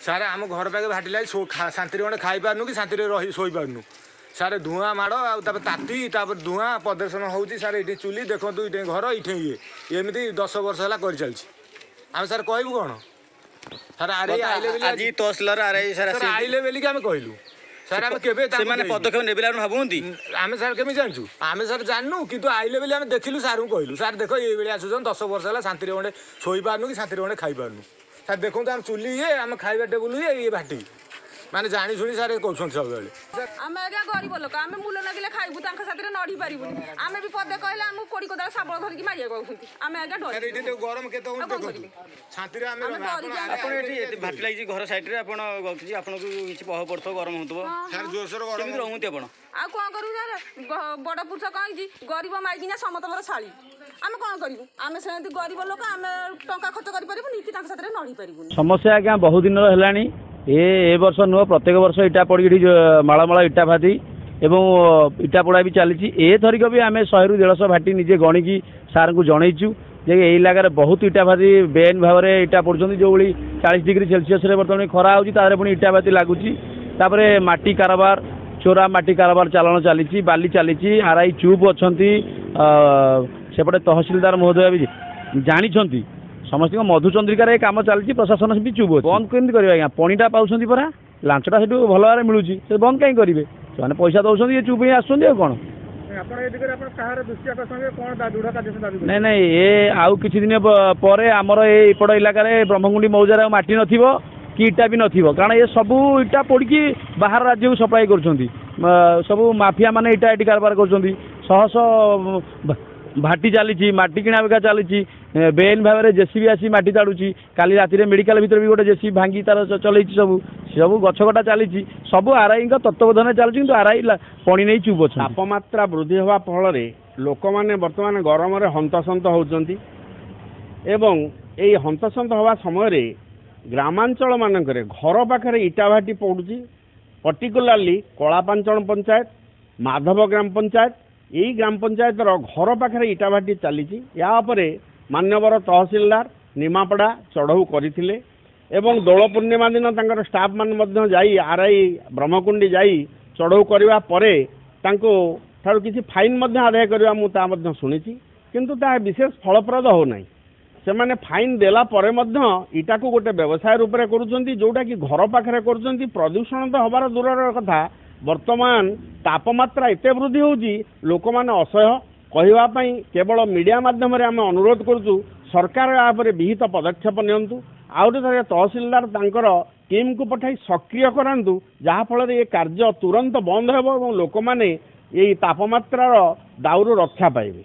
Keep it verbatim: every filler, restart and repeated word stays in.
Sir, ଆମ ଘର ପାଖେ ଭାଟି ଲାଗି ଶାନ୍ତିରେ ଗଣ୍ଡେ ଖାଇପାରୁନୁ କି ଶାନ୍ତିରେ ରହି ଶୋଇପାରୁନୁ ସାର୍। ଧୂଆଁ ମାଡ଼ ଆଉ ତାପରେ ତାତି, ତାପରେ ଧୂଆଁ ପ୍ରଦୂଷଣ ହେଉଛି ସାର୍। ଏଇଠି ଚୁଲି ଦେଖନ୍ତୁ, ଏଇଠି ଘର, ଏଇଠି ଇଏ ଏମିତି ଦଶ ବର୍ଷ ହେଲା କରିଚାଲିଛି। ଆମେ ସାର୍ କହିବୁ କ'ଣ ସାର୍? ଆରେ ଆଇଲେ ବୋଲି ଆଜି ତହସିଲଦାର ଆର୍ I sir ଆଇଲେ ବୋଲିକି ଆମେ କହିଲୁ ସାର୍। ଆମେ କେବେ ସେମାନେ ପଦକ୍ଷେପ ନେବେ ଆପଣ ଭାବୁଛନ୍ତି? ଆମେ ସାର୍ କେମିତି ଜାଣିଛୁ? ଆମେ ସାର୍ ଜାଣିନୁ, କିନ୍ତୁ ଆଇଲେ ବୋଲି ଆମେ ଦେଖିଲୁ, ସାର୍ଙ୍କୁ କହିଲୁ, ସାର୍ ଦେଖ ଏଇଭଳି ଆସୁଛନ୍ତି, ଦଶ ବର୍ଷ ହେଲା ଶାନ୍ତିରେ ଗଣ୍ଡେ ଶୋଇପାରୁନୁ କି ଶାନ୍ତିରେ ଗଣ୍ଡେ ଖାଇପାରୁନୁ ସାର୍। ଦେଖନ୍ତୁ ଆମ ଚୁଲି ଇଏ, ଆମ ଖାଇବା ଟେବୁଲ ଇଏ, ଇଏ ଭାଟି ମାନେ ଜାଣି ଶୁଣି ସାର୍ କରୁଛନ୍ତି ସବୁବେଳେ। ଆମେ ଆଜ୍ଞା ଗରିବ ଲୋକ, ଆମେ ମୂଲ ଲାଗିଲେ ଖାଇବୁ, ତାଙ୍କ ସାଥିରେ ନଢି ପାରିବୁନି। ଆମେ ବି ପଦେ କହିଲେ ଆମକୁ କୋଡ଼ି କୋଦାଳ ଶାବଳ ଧରିକି ମାରିବାକୁ ଆଉଛନ୍ତି। ଆମେ ଆଜ୍ଞା ଡରି ଗରମ କେତେ ହେଉଛି ଦେଖନ୍ତୁ, ଶାନ୍ତିରେ ଆମେ ଆପଣ ଏଠି ଏତେ ଭାଟି ଲାଗିଛି ଘର ସାଇଡ୍ରେ, ଆପଣ କିଛି ଆପଣଙ୍କୁ କିଛି ପ୍ରଭାବ ପଡୁଥିବ, ଗରମ ହେଉଥିବ ସାର୍, ଜୋରସୋର ଗରମ। କେମିତି ରହୁଛନ୍ତି ଆପଣ? ଆଉ କ'ଣ କରିବୁ ସାର୍? ବଡ଼ ପୁରୁଷ କ'ଣ ହେଇଛି, ଗରିବ ମାଇକିନା ସମସ୍ତଙ୍କର ଶାଳୀ। ଆମେ କ'ଣ କରିବୁ? ଆମେ ସେମିତି ଗରିବ ଲୋକ, ଆମେ ଟଙ୍କା ଖର୍ଚ୍ଚ କରିପାରିବୁନି କି ତାଙ୍କ ସାଥିରେ ନଢି ପାରିବୁନି। ସମସ୍ୟା ଆଜ୍ଞା ବହୁ ଦିନର ହେଲାଣି, ଏ ଏ ବର୍ଷ ନୁହଁ, ପ୍ରତ୍ୟେକ ବର୍ଷ ଇଟା ପଡ଼ିକି ଏଠି ମାଳ ମାଳ ଇଟା ଭାଟି ଏବଂ ଇଟା ପୋଡ଼ା ବି ଚାଲିଛି। ଏଥରିକ ବି ଆମେ ଶହେରୁ ଦେଢ଼ଶହ ଭାଟି ନିଜେ ଗଣିକି ସାର୍ଙ୍କୁ ଜଣେଇଛୁ ଯେ ଏଇ ଇଲାକାରେ ବହୁତ ଇଟା ଭାଟି ବେଆଇନ ଭାବରେ ଇଟା ପୋଡ଼ୁଛନ୍ତି। ଯେଉଁଭଳି ଚାଳିଶ ଡିଗ୍ରୀ ସେଲସିୟସରେ ବର୍ତ୍ତମାନ ଖରା ହେଉଛି, ତା ଦେହରେ ପୁଣି ଇଟା ଭାଟି ଲାଗୁଛି। ତାପରେ ମାଟି କାରବାର, ଚୋରା ମାଟି କାରବାର ଚାଲାଣ ଚାଲିଛି, ବାଲି ଚାଲିଛି। ଆର୍ I ଚୁପ୍ ଅଛନ୍ତି, ସେପଟେ ତହସିଲଦାର ମହୋଦୟ ବି ଜାଣିଛନ୍ତି। ସମସ୍ତଙ୍କ ମଧୁଚନ୍ଦ୍ରିକାରେ ଏ କାମ ଚାଲିଛି, ପ୍ରଶାସନ ବି ଚୁପ୍ ଅଛି। ବନ୍ଦ କେମିତି କରିବେ ଆଜ୍ଞା? ପଣିଟା ପାଉଛନ୍ତି ପରା, ଲାଞ୍ଚଟା ସେଠୁ ଭଲ ଭାବରେ ମିଳୁଛି, ସେ ବନ୍ଦ କାହିଁ କରିବେ? ସେମାନେ ପଇସା ଦେଉଛନ୍ତି, ଇଏ ଚୁପ୍ ହେଇ ଆସୁଛନ୍ତି, ଆଉ କ'ଣ? ନାଇଁ ନାଇଁ, ଏ ଆଉ କିଛି ଦିନ ପରେ ଆମର ଏ ଏପଟ ଇଲାକାରେ ବ୍ରହ୍ମକୁଣ୍ଡି ମୌଜାରେ ଆଉ ମାଟି ନଥିବ କି ଇଟା ବି ନଥିବ, କାରଣ ଏ ସବୁ ଇଟା ପୋଡ଼ିକି ବାହାର ରାଜ୍ୟକୁ ସପ୍ଲାଏ କରୁଛନ୍ତି। ସବୁ ମାଫିଆ ମାନେ ଇଟା ଏଠି କାରବାର କରୁଛନ୍ତି। ଶହ ଶହ ଭାଟି ଚାଲିଛି, ମାଟି କିଣା ବିକା ଚାଲିଛି, ବେଆଇନ ଭାବରେ ଜେସିବି ଆସି ମାଟି ତାଡ଼ୁଛି। କାଲି ରାତିରେ ମେଡ଼ିକାଲ ଭିତରେ ବି ଗୋଟେ ଜେସିବି ଭାଙ୍ଗି ତାର ଚଲେଇଛି। ସବୁ ସବୁ ଗଛ କଟା ଚାଲିଛି, ସବୁ ଆର୍ଆଇଙ୍କ ତତ୍ତ୍ୱାବଧାନରେ ଚାଲିଛି, କିନ୍ତୁ ଆର୍ଆଇ ପଣି ନେଇ ଚୁପ୍ ଅଛନ୍ତି। ତାପମାତ୍ରା ବୃଦ୍ଧି ହେବା ଫଳରେ ଲୋକମାନେ ବର୍ତ୍ତମାନ ଗରମରେ ହନ୍ତସନ୍ତ ହେଉଛନ୍ତି ଏବଂ ଏଇ ହନ୍ତସନ୍ତ ହେବା ସମୟରେ ଗ୍ରାମାଞ୍ଚଳ ମାନଙ୍କରେ ଘର ପାଖରେ ଇଟା ଭାଟି ପଡ଼ୁଛି। ପର୍ଟିକୁଲାରଲି କଳାପାଞ୍ଚଣ ପଞ୍ଚାୟତ, ମାଧବ ଗ୍ରାମ ପଞ୍ଚାୟତ, ଏଇ ଗ୍ରାମ ପଞ୍ଚାୟତର ଘର ପାଖରେ ଇଟା ଭାଟି ଚାଲିଛି। ଏହା ଉପରେ ମାନ୍ୟବର ତହସିଲଦାର ନିମାପଡ଼ା ଚଢ଼ଉ କରିଥିଲେ ଏବଂ ଦୋଳ ପୂର୍ଣ୍ଣିମା ଦିନ ତାଙ୍କର ଷ୍ଟାଫ୍ ମାନେ ମଧ୍ୟ ଯାଇ ଆର୍ I Brahmakundi ଯାଇ ଚଢ଼ଉ କରିବା ପରେ ତାଙ୍କୁ ଠାରୁ କିଛି ଫାଇନ୍ ମଧ୍ୟ ଆଦାୟ କରିବା ମୁଁ ତାହା ମଧ୍ୟ ଶୁଣିଛି, କିନ୍ତୁ ତାହା ବିଶେଷ ଫଳପ୍ରଦ ହେଉନାହିଁ। ସେମାନେ ଫାଇନ୍ ଦେଲା ପରେ ମଧ୍ୟ ଇଟାକୁ ଗୋଟେ ବ୍ୟବସାୟ ରୂପରେ କରୁଛନ୍ତି, ଯେଉଁଟାକି ଘର ପାଖରେ କରୁଛନ୍ତି। ପ୍ରଦୂଷଣ ତ ହେବାର ଦୂରର କଥା, ବର୍ତ୍ତମାନ ତାପମାତ୍ରା ଏତେ ବୃଦ୍ଧି ହେଉଛି ଲୋକମାନେ ଅସହ୍ୟ। କହିବା ପାଇଁ କେବଳ ମିଡ଼ିଆ ମାଧ୍ୟମରେ ଆମେ ଅନୁରୋଧ କରୁଛୁ, ସରକାର ଏହା ଉପରେ ବିହିତ ପଦକ୍ଷେପ ନିଅନ୍ତୁ। ଆହୁରି ଥରେ ତହସିଲଦାର ତାଙ୍କର ଟିମ୍କୁ ପଠାଇ ସକ୍ରିୟ କରାନ୍ତୁ, ଯାହାଫଳରେ ଏ କାର୍ଯ୍ୟ ତୁରନ୍ତ ବନ୍ଦ ହେବ ଏବଂ ଲୋକମାନେ ଏଇ ତାପମାତ୍ରାର ଦାଉରୁ ରକ୍ଷା ପାଇବେ।